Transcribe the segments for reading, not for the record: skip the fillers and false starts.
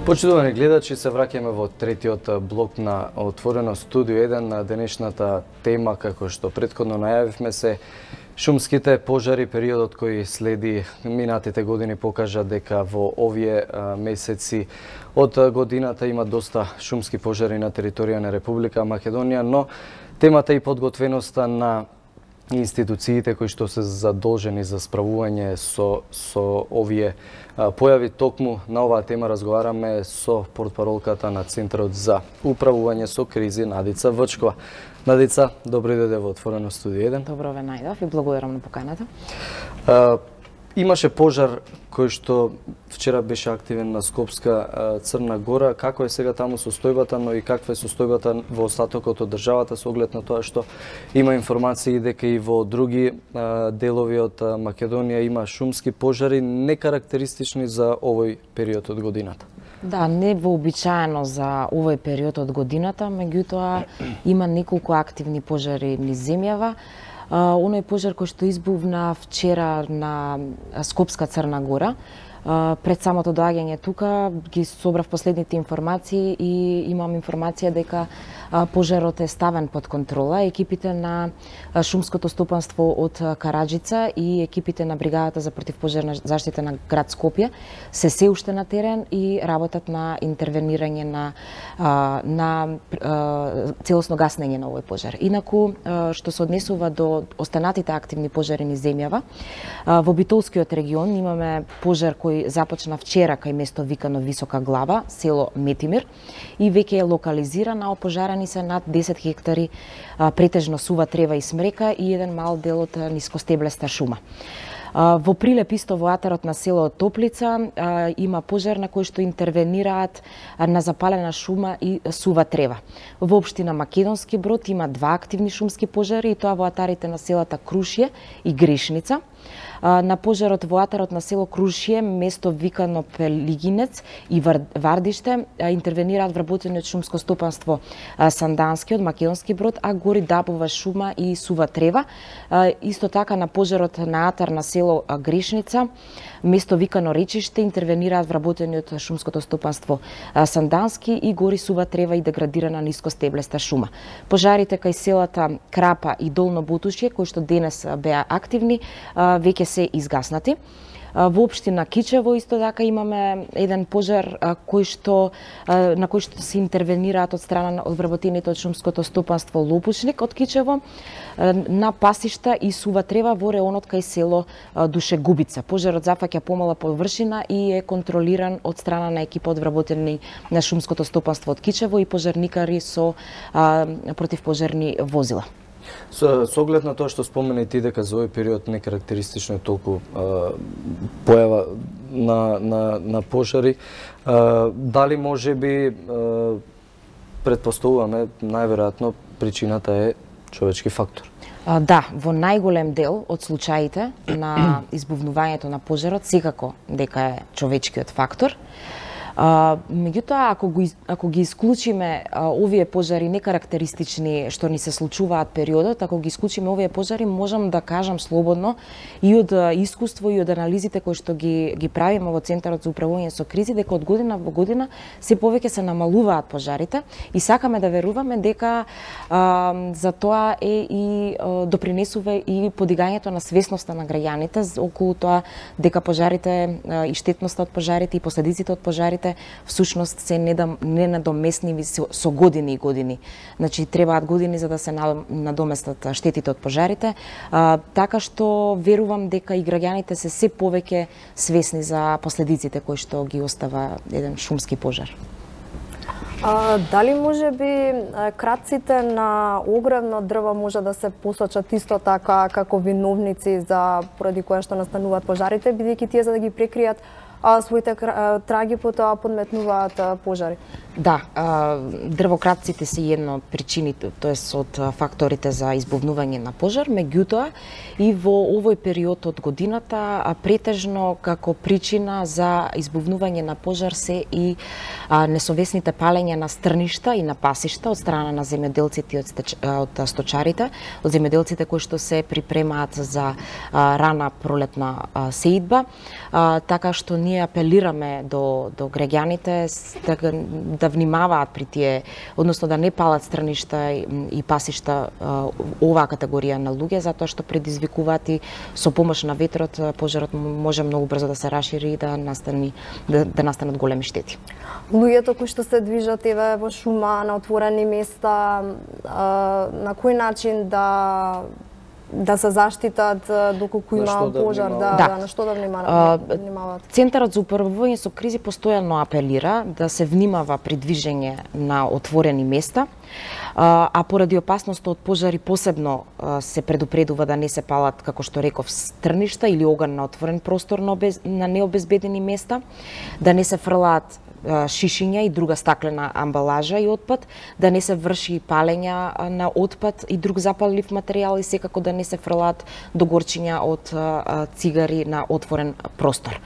Почитувани гледачи, се враќаме во третиот блок на Отворено студио 1 на денешната тема, како што претходно најавивме, се шумските пожари. Периодот кој следи минатите години покажа дека во овие месеци од годината има доста шумски пожари на територија на Република Македонија, но темата и подготвеноста на институциите кои што се задолжени за справување со овие појави. Токму на оваа тема разговараме со портпаролката на Центарот за управување со кризи Надица Вчкова. Надица, добро дојде во Отворено студио 1. Добро ве најдов и благодарам на поканата. Имаше пожар кој што вчера беше активен на Скопска Црна Гора. Како е сега таму состојбата, но и каква е состојбата во остатокот од државата со оглед на тоа што има информации дека и во други делови од Македонија има шумски пожари некарактеристични за овој период од годината? Да, не вообичаено за овој период од годината, меѓутоа има неколку активни пожари низ земјава. Оној пожар кој што избувна вчера на Скопска Црна Гора, пред самото доаѓање тука ги собрав последните информации и имам информација дека пожарот е ставен под контрола. Екипите на шумското стопанство од Караџица и екипите на бригадата за противпожарна заштита на град Скопје се уште на терен и работат на интервенирање на целосно гаснење на овој пожар. Инаку, што се однесува до останатите активни пожари низ земјава, во Битолскиот регион имаме пожар кој започна вчера кај место викано Висока Глава, село Метимир, и веќе е локализиран, а опожарени се над 10 хектари претежно сува трева и смрека и еден мал дел од нискостеблеста шума. Во Прилеп исто во атарот на село Топлица има пожар на кој што интервенираат на запалена шума и сува трева. Во општина Македонски Брод има два активни шумски пожари и тоа во атарите на селата Крушје и Гришница. На пожарот во атарот на село Крушје, место викано Пелигинец и Вардиште интервенираат вработениот шумско стопанство Сандански од Македонски Брод, а гори дабова шума и сува трева. Исто така на пожарот на атар на село Гришница, место викано Речиште, интервенираат вработениот шумското стопанство Сандански и гори сува трева и деградирана нискостеблеста шума. Пожарите кај селата Крапа и Долно Бутушје, кои што денес беа активни, веќе се изгаснати. Во општина Кичево исто така имаме еден пожар на кој што се интервенираат од страна од вработените од шумското стопанство Лопушник од Кичево на пасишта и сува трева во реонот кај село Душегубица. Пожарот зафаќа помала површина и е контролиран од страна на екипа од вработени на шумското стопанство од Кичево и пожарникари со противпожарни возила. Со оглед на тоа што спомена и ти дека за овој период не карактеристично е толку појава на пожари, дали можеби претпоставуваме најверојатно причината е човечки фактор? Да, во најголем дел од случаите на избувнувањето на пожарот секако дека е човечкиот фактор. Меѓутоа, ако ги исклучиме овие пожари некарактеристични што ни се случуваат периодот, ако ги исклучиме овие пожари, можам да кажам слободно и од искуство и од анализите кои што ги правиме во Центарот за управување со кризи, дека од година во година се повеќе се намалуваат пожарите и сакаме да веруваме дека за тоа е и допринесува и подигањето на свесноста на граѓаните околу тоа дека пожарите и штетноста од пожарите и последиците од пожарите всушност се ненадоместниви со години и години. Значи требаат години за да се надоместат штетите од пожарите, така што верувам дека и граѓаните се повеќе свесни за последиците кои што ги остава еден шумски пожар. Дали можеби крадците на огревно дрво може да се посочат исто така како виновници за поради која што настануваат пожарите, бидејќи тие за да ги прекријат своите траги потоа подметнуваат пожари? Да, дрвократците се една од причините, тоест од факторите за избувнување на пожар, меѓутоа и во овој период од годината претежно како причина за избувнување на пожар се и несовесните палења на стрништа и на пасишта од страна на земјоделците и од сточарите, од земјоделците кои што се припремаат за рана пролетна сеидба, така што ние ние апелираме до граѓаните да внимаваат при тие, односно да не палат страништа и пасишта оваа категорија на луѓе, затоа што предизвикуваат и со помош на ветрот пожарот може многу брзо да се рашири и да настанат големи штети. Луѓето кои што се движат еве во шума на отворени места, на кој начин да се заштитат доколку има пожар, на што да внимаваат? Центарот за управување со кризи постојано апелира да се внимава при движење на отворени места, а поради опасноста од пожари посебно се предупредува да не се палат, како што реков, стрништа или оган на отворен простор на необезбедени места, да не се фрлаат шишиња и друга стаклена амбалажа и отпад, да не се врши палење на отпад и друг запалив материјал и секако да не се фрлаат догорчиња од цигари на отворен простор.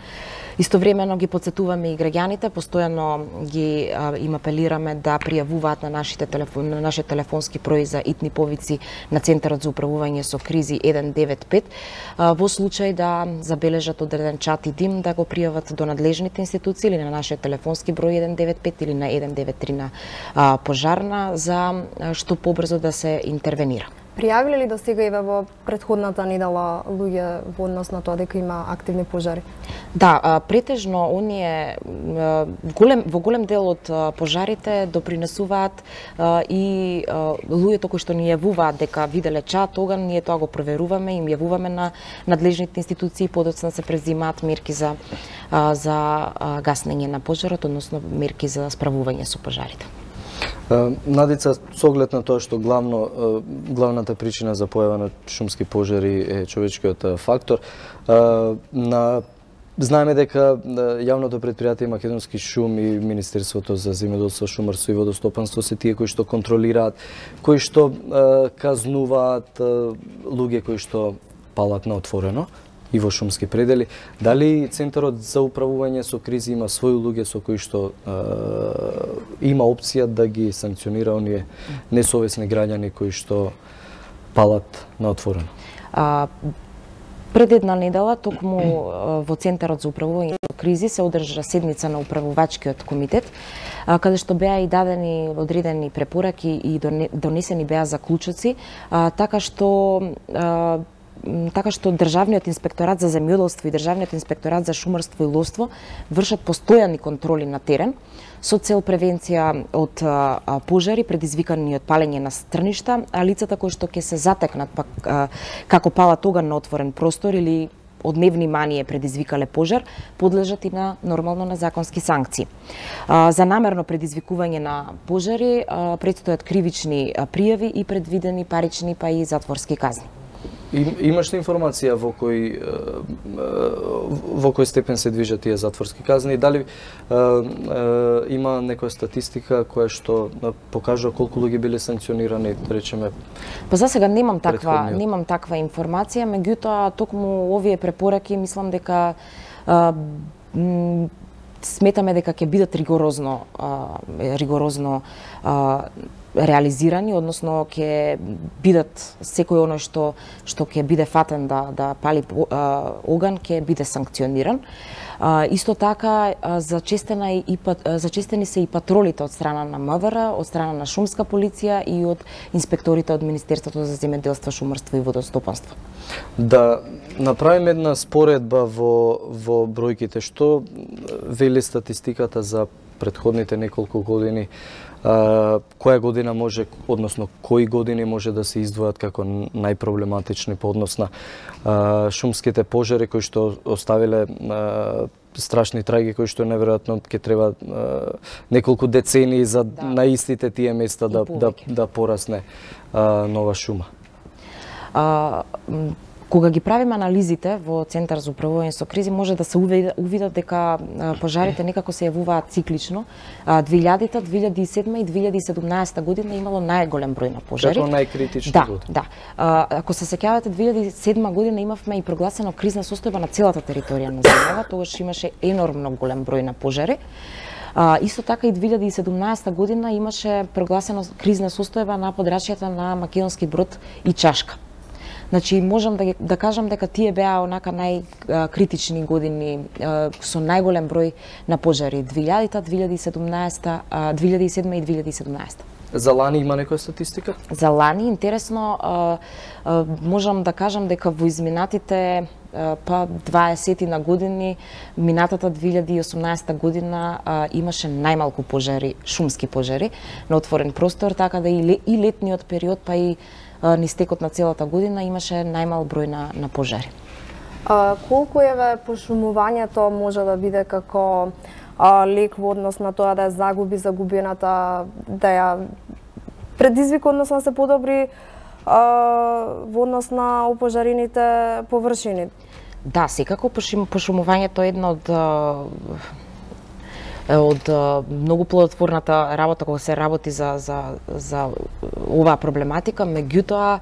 Истовремено ги потсетуваме и граѓаните, постојано им апелираме да пријавуваат на нашите телефонски број за итни повици на Центарот за управување со кризи 195, во случај да забележат одреден чат и дим, да го пријават до надлежните институции или на нашиот телефонски број 195 или на 193 на пожарна, за што побрзо да се интервенира. Пријавиле ли до сега и во претходната недела луѓе во однос на тоа дека има активни пожари? Да, претежно оние во голем дел од пожарите допринесуваат и луѓето кои што ни јавуваат дека виделе чат, оган, ние тоа го проверуваме, им јавуваме на надлежните институции, подоцна се презимаат мерки за гаснење на пожарот, односно мерки за справување со пожарите. Надица, со оглед на тоа што главната причина за појава на шумски пожари е човечкиот фактор, знаеме дека јавното претпријатие Македонски шум и Министерството за земјоделство, шумарство и водостопанство се тие кои што контролираат, кои што казнуваат луѓе кои што палат на отворено и во шумски предели. Дали Центарот за управување со кризи има своји луѓе со кои што има опција да ги санкционира оние несовесни граѓани кои што палат на отворено? Пред една недела, токму во Центарот за управување со кризи се одржа седница на управувачкиот комитет, каде што беа и дадени одредени препораки и донесени беа заклучоци, така што Државниот инспекторат за земјоделство и Државниот инспекторат за шумарство и ловство вршат постојани контроли на терен со цел превенција од пожари предизвикани од палење на стрништа, а лицата кои што ќе се затекнат како палат оган на отворен простор или од невнимание предизвикале пожар, подлежат и на законски санкции. За намерно предизвикување на пожари предстојат кривични пријави и предвидени парични па и затворски казни. Имаш ли информација во кој степен се движат тие затворски казни? Дали има некоја статистика која што покажува колку луѓе биле санкционирани, да речеме? Па за сега немам таква информација, меѓутоа токму овие препораки мислам дека сметаме дека ќе бидат ригорозно реализирани, односно ќе бидат секој оној што ќе биде фатен да пали оган ќе биде санкциониран. Исто така зачестени се и патролите од страна на МВР, од страна на шумска полиција и од инспекторите од Министерството за земјоделство, шумарство и водостопанство. Да направиме една споредба во бројките. Што вели статистиката за претходните неколку години? Која година може, односно кои години може да се издвојат како најпроблематични по однос на шумските пожари кои што оставиле страшни траги кои што неверојатно ќе треба неколку децении за на истите тие места да порасне нова шума? Кога ги правиме анализите во Центар за управување со кризи, може да се увидат дека пожарите некако се јавуваат циклично. 2000, 2007 и 2017 година имало најголем број на пожари. Како најкритични години? Да. Ако се сеќавате, 2007 година имавме и прогласено кризна состојба на целата територија на земјава, тогаш имаше енормно голем број на пожари. Исто така и 2017 година имаше прогласено кризна состојба на подрачјата на Македонски Брод и Чашка. Значи можам да кажам дека тие беа онака најкритични години со најголем број на пожари 2000-та, 2017-та, 2007 и 2017. За лани има некоја статистика? За лани интересно можам да кажам дека во изминатите 20 на години, минатата 2018 година имаше најмалку пожари, шумски пожари на отворен простор, така да и летниот период па и низ текот на целата година имаше најмал број на пожари. Колку пошумувањето може да биде како лек во однос на тоа да ја загуби загубената, да ја предизвика односно да се подобри во однос на опожарените површини? Да, секако пошумувањето е една од многу плодотворната работа кога се работи за оваа проблематика, меѓутоа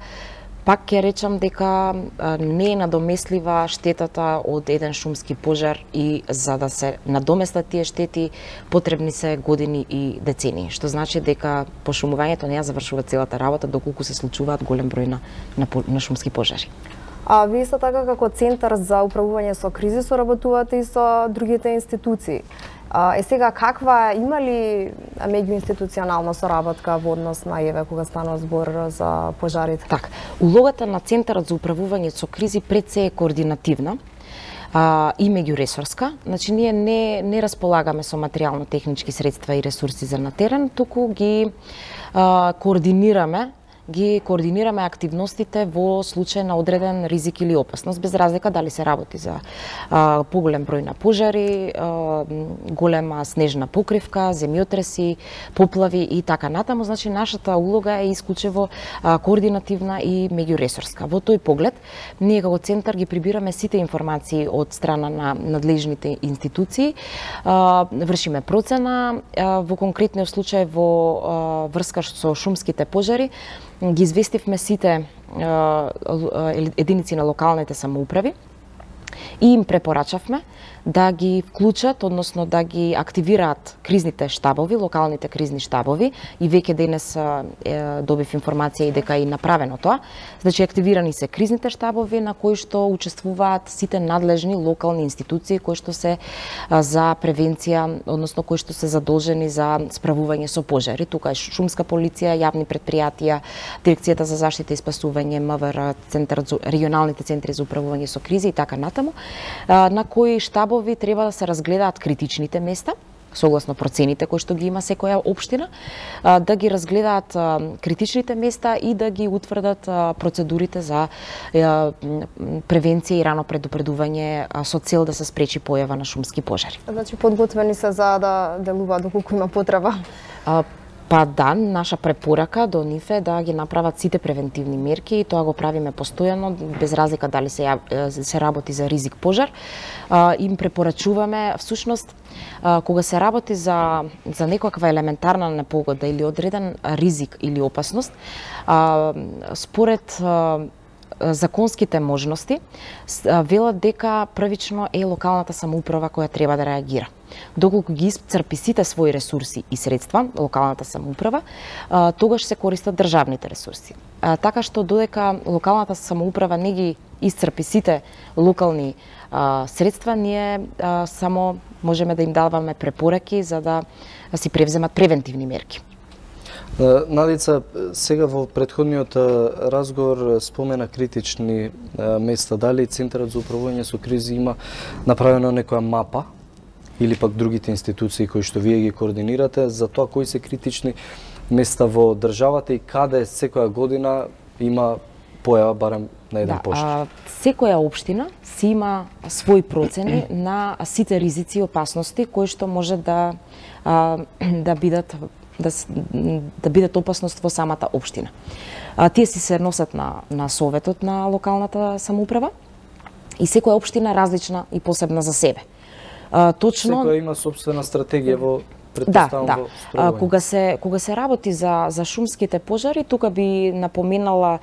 пак ќе речам дека не е надомеслива штетата од еден шумски пожар и за да се надоместат тие штети потребни се години и децении, што значи дека пошумувањето не ја завршува целата работа доколку се случуваат голем број на шумски пожари. А вие исто така како Центар за управување со кризи соработувате и со другите институции. Сега има ли меѓуинституционална соработка во однос на кога станува збор за пожарите? Така, улогата на Центарот за управување со кризи пред се е координативна и меѓуресорска. Значи ние не располагаме со материјално-технички средства и ресурси за на терен, туку ги координираме активностите во случај на одреден ризик или опасност, без разлика дали се работи за поголем број на пожари, голема снежна покривка, земјотреси, поплави и така натаму. Значи нашата улога е исклучиво координативна и меѓуресорска. Во тој поглед, ние како Центар ги прибираме сите информации од страна на надлежните институции, вршиме процена, во конкретниот случај во врска со шумските пожари, ги известивме сите единици на локалните самоуправи и им препорачавме да ги вклучат, односно да ги активираат кризните штабови, локалните кризни штабови, и веќе денес добив информација и дека е направено тоа. Значи активирани се кризните штабови на кои што учествуваат сите надлежни локални институции кои што се за превенција, односно кои што се задолжени за справување со пожари. Тука е шумска полиција, јавни претпријатија, Дирекцијата за заштита и спасување, МВР, регионалните центри за управување со кризи и така натаму, на кои штабови треба да се разгледаат критичните места, согласно процените кои што ги има секоја општина, да ги разгледаат критичните места и да ги утврдат процедурите за превенција и рано предупредување со цел да се спречи појава на шумски пожари. Значи подготвени се за да делуваат доколку има потреба? Па да, наша препорака до нив е да ги направат сите превентивни мерки и тоа го правиме постојано, без разлика дали се работи за ризик пожар. Им препорачуваме, всушност, кога се работи за некаква елементарна непогода или одреден ризик или опасност, според законските можности, велат дека првично е локалната самоуправа која треба да реагира. Доколку ги исцрпи сите своји ресурси и средства, локалната самоуправа, тогаш се користат државните ресурси. Така што додека локалната самоуправа не ги исцрпи сите локални средства, ние само можеме да им даваме препораки за да си превземат превентивни мерки. Надица, сега во претходниот разговор спомена критични места. Дали Центарот за управување со кризи има направено некоја мапа или пак другите институции кои што вие ги координирате за тоа кои се критични места во државата и каде секоја година има појава барем на еден пожар? Секоја општина си има своји процени на сите ризици и опасности кои што може да бидат опасност во самата општина. Тие си се носат на советот на локалната самоуправа и секоја општина различна и посебна за себе. Точно секоја има собствена стратегија во предпоставам во справување. Кога се работи за шумските пожари, тука би напоменала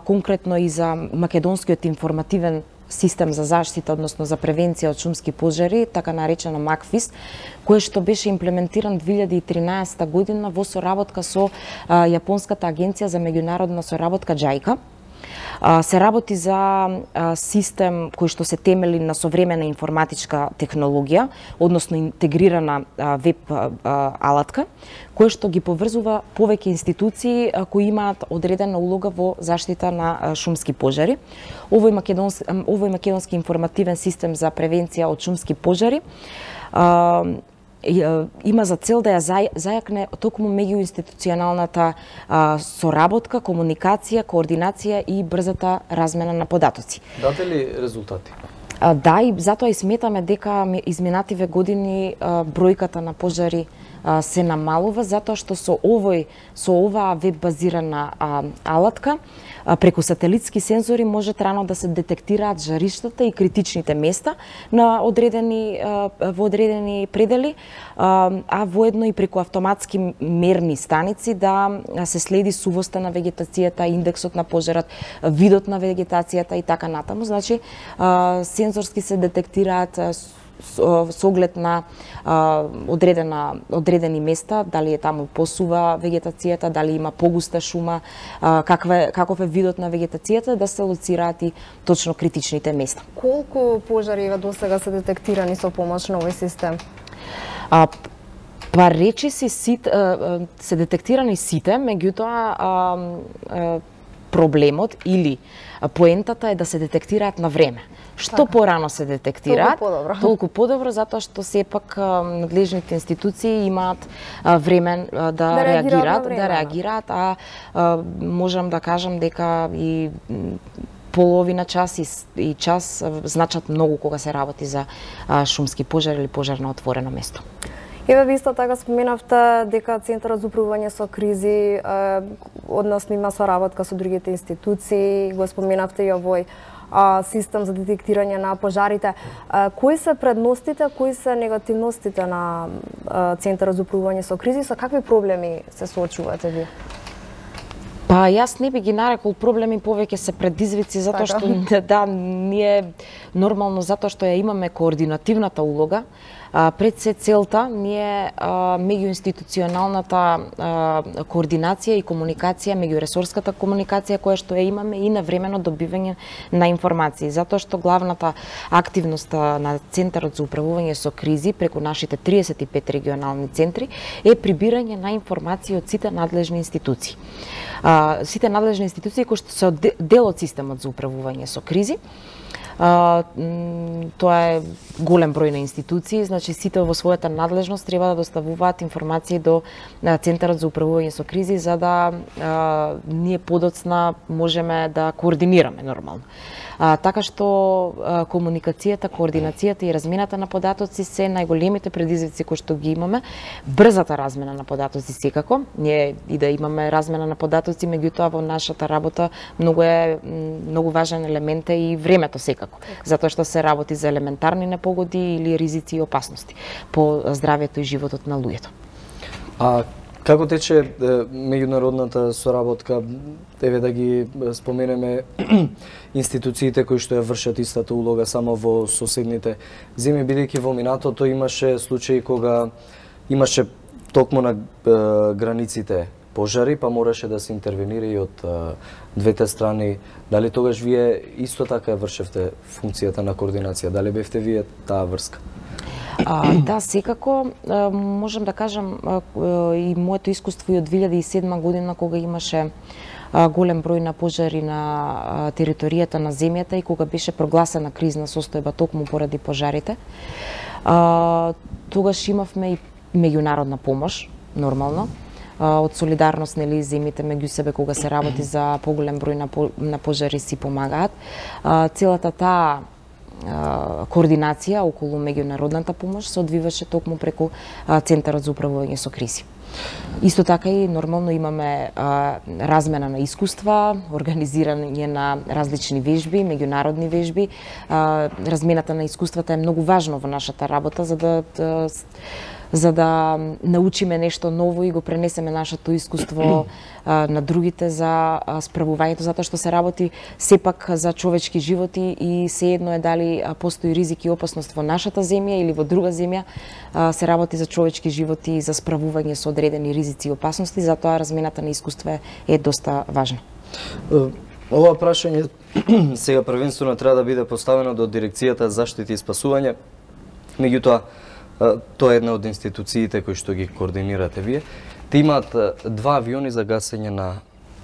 конкретно и за македонскиот информативен систем за заштита, односно за превенција од шумски пожари, така наречено МАКФИС, кој што беше имплементиран 2013 година во соработка со Јапонската агенција за меѓународна соработка JICA. Се работи за систем кој што се темели на современа информатичка технологија, односно интегрирана веб алатка, кој што ги поврзува повеќе институции кои имаат одредена улога во заштита на шумски пожари. Овој македонски информативен систем за превенција од шумски пожари има за цел да ја зајакне токму меѓуинституционалната соработка, комуникација, координација и брзата размена на податоци. Дате ли резултати? Да, и затоа и сметаме дека изминативе години бројката на пожари се намалува, затоа што со оваа веб базирана алатка преку сателитски сензори може рано да се детектираат жариштата и критичните места на во одредени предели, а воедно и преку автоматски мерни станици да се следи сувоста на вегетацијата, индексот на пожарот, видот на вегетацијата и така натаму. Значи, сензорски се детектираат со оглед на одредени места, дали е таму посува вегетацијата, дали има погуста шума, каков е видот на вегетацијата, да се лоцираат и точно критичните места. Колку пожари досега се детектирани со помош на овој систем? Па речиси се детектирани сите, меѓутоа проблемот или поентата е да се детектираат на време. Што порано се детектираат, толку подобро, затоа што сепак надлежните институции имаат време да реагираат, а можам да кажам дека и половина час и час значат многу кога се работи за шумски пожар или пожар на отворено место. Еве, ви исто така споменавте дека Центарот за управување со кризи односно има соработка со другите институции, го споменавте и овој систем за детектирање на пожарите. Кои се предностите, кои се негативностите на Центарот за управување со кризи, со какви проблеми се соочувате ви? Па јас не би ги нарекол проблеми, повеќе се предизвици, затоа што ние нормално затоа што ја имаме координативната улога. Пред се целта ние меѓуинституционалната координација и комуникација, меѓуресорската комуникација која што ја имаме и навремено добивање на информации. Затоа што главната активност на Центарот за управување со кризи преку нашите 35 регионални центри е прибирање на информации од сите надлежни институции. Сите надлежни институции кои што се дел од системот за управување со кризи. Тоа е голем број на институции, значи сите во својата надлежност треба да доставуваат информации до Центарот за управување со кризи за да ние подоцна можеме да координираме нормално. Така што комуникацијата, координацијата и размената на податоци се најголемите предизвици кои што ги имаме. Брзата размена на податоци секако, ние и да имаме размена на податоци, меѓутоа во нашата работа многу важен елемент е и времето секако, затоа што се работи за елементарни непогоди или ризици и опасности по здравјето и животот на луѓето. Како тече меѓународната соработка? Еве да ги споменеме институциите кои што ја вршат истата улога само во соседните земји, бидејќи во минатото имаше случаи кога имаше токму на границите пожари, па мораше да се интервенира и од двете страни. Дали тогаш вие исто така вршевте функцијата на координација? Дали бевте вие таа врска? Да, секако можам да кажам и моето искуство и од 2007 година кога имаше голем број на пожари на територијата на земјата и кога беше прогласена кризна состојба токму поради пожарите. Тогаш имавме и меѓународна помош, нормално, од солидарност, нели, земјите меѓу себе кога се работи за поголем број на пожари си помагаат. Целата таа координација околу меѓународната помош се одвиваше токму преку Центарот за управување со кризи. Исто така и нормално имаме размена на искуства, организирање на различни вежби, меѓународни вежби. Размената на искуствата е многу важно во нашата работа за да научиме нешто ново и го пренесеме нашето искуство на другите за справувањето, затоа што се работи сепак за човечки животи и сеедно е дали постои ризик и опасност во нашата земја или во друга земја, се работи за човечки животи и за справување со одредени ризици и опасности, затоа размената на искуство е доста важна. Ова прашање сега првенствено треба да биде поставено до Дирекцијата за заштита и спасување. Меѓутоа, тоа е една од институциите кои што ги координирате вие. Те имаат 2 авиони за гасење на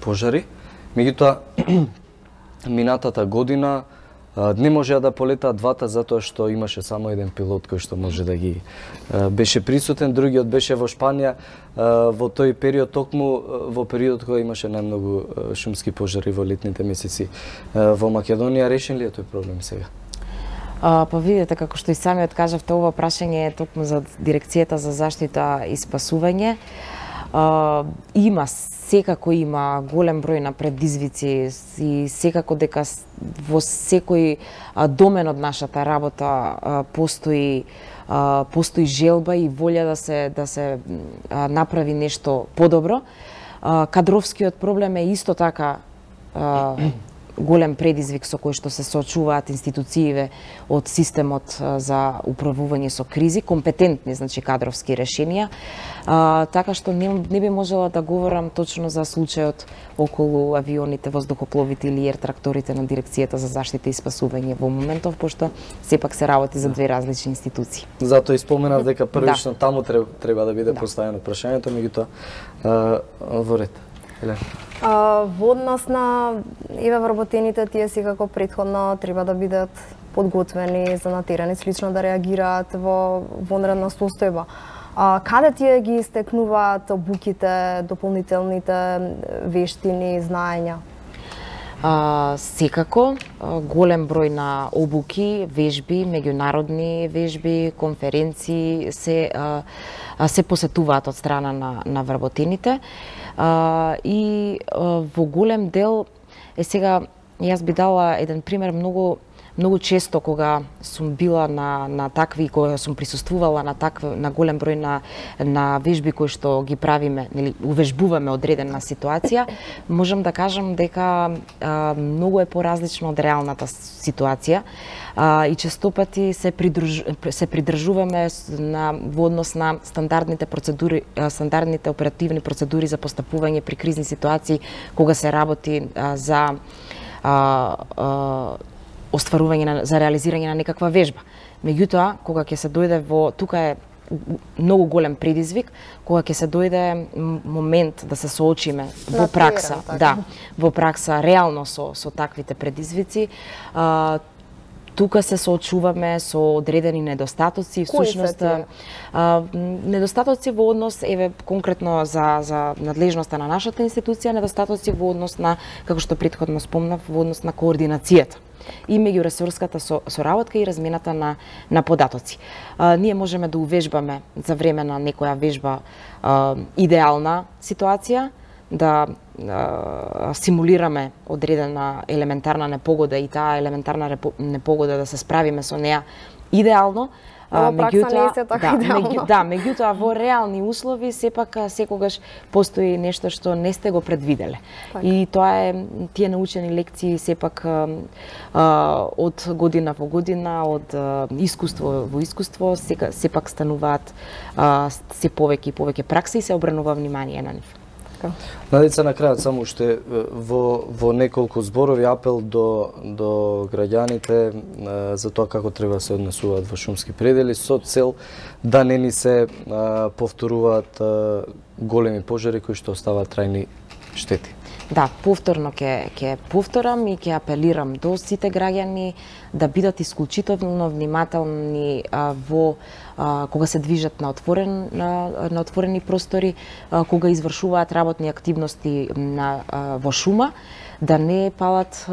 пожари. Меѓутоа, минатата година не можеа да полетаат двата затоа што имаше само еден пилот кој што може да ги беше присутен, другиот беше во Шпанија во тој период, токму во периодот кога имаше најмногу шумски пожари во летните месеци во Македонија. Решен ли е тој проблем сега? Па видите, како што и самиот кажавте, ова прашање е токму за Дирекцијата за заштита и спасување. Има, секако има голем број на предизвици и секако дека во секој домен од нашата работа постои желба и волја да се направи нешто подобро. Кадровскиот проблем е исто така голем предизвик со кој што се соочуваат институциите од системот за управување со кризи, компетентни, значи кадровски решенија, така што не би можела да говорам точно за случајот околу авионите, воздухопловите или ер-тракторите на Дирекцијата за заштита и спасување во моментов, пошто сепак се работи за две различни институции. Затоа и споменав дека првично таму треба да биде поставено прашањето, меѓутоа во ред. Во однос на вработените, тие си како претходно треба да бидат подготвени, занатерани, слично да реагираат во вонредна состојба. Каде тие ги стекнуваат обуките, дополнителните вештини, знаења? Секако, голем број на обуки, вежби, меѓународни вежби, конференции се посетуваат од страна на вработените. И во голем дел, сега јас би дала еден пример, многу често кога сум била на такви, кога сум присуствувала на голем број на вежби кои што ги правиме, нели увежбуваме одредена ситуација, можам да кажам дека многу е поразлично од реалната ситуација и честопати се придржуваме во однос на стандардните процедури, стандардните оперативни процедури за постапување при кризни ситуации кога се работи за остварување за реализирање на некаква вежба. Меѓутоа, кога ќе се дојде тука е многу голем предизвик, кога ќе се дојде момент да се соочиме во пракса, во пракса реално со таквите предизвици, тука се соочуваме со одредени недостатоци, всушност недостатоци во однос конкретно за надлежноста на нашата институција, недостатоци во однос на, како што претходно спомнав, во однос на координацијата и меѓуресорската соработка и размената на податоци. Ние можеме да увежбаме за време на некоја вежба идеална ситуација, да симулираме одредена елементарна непогода и таа елементарна непогода да се справиме со неа идеално. Меѓутоа во реални услови сепак секогаш постои нешто што не сте го предвиделе. И тоа е тие научени лекции сепак од година во година, од искуство во искуство, сепак стануваат се повеќе и повеќе пракси и се обрнува внимание на нив. Надица, на крајот само уште во неколку зборови апел до граѓаните за тоа како треба да се однесуваат во шумски предели со цел да не ни се повторуваат големи пожари кои што оставаат трајни штети. Да, повторно ќе повторам и ќе апелирам до сите граѓани да бидат исклучително внимателни кога се движат на отворени простори, кога извршуваат работни активности во шума, да не палат,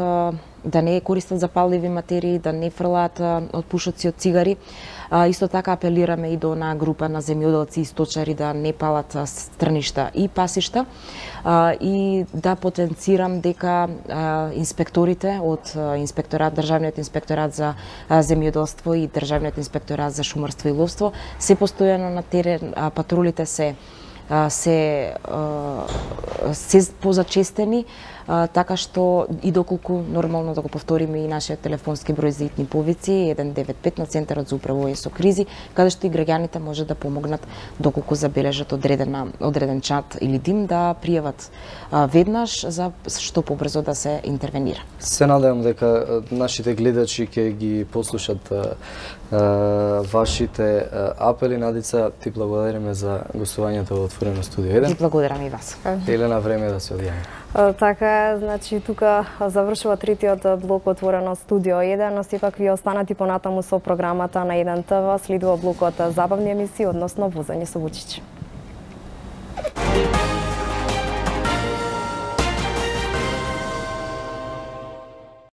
да не користат запалливи материи, да не фрлаат од пушоци од цигари. Исто така апелираме и до онаа група на земјоделци и сточари да не палат стрништа и пасишта и да потенцирам дека инспекторите од Државниот инспекторат за земјоделство и Државниот инспекторат за шумарство и ловство се постојано на терен, патрулите се позачестени така што и доколку нормално да го повториме и нашиот телефонски број за итни повици 195 на Центарот за управување со кризи, каде што и граѓаните може да помогнат доколку забележат одреден чад или дим да пријават веднаш за што побрзо да се интервенира. Се надевам дека нашите гледачи ќе ги послушат вашите апели. Надица, ти благодариме за гостувањето во Отворено студио 1. Ти благодарам и вас. Елена, време е да се одјавиме. Така е, значи тука завршува третиот блок Отворено студио 1, но сепак ви останати понатаму со програмата на 1 ТВ, следува блокот забавни емисии, односно возење со Вучич.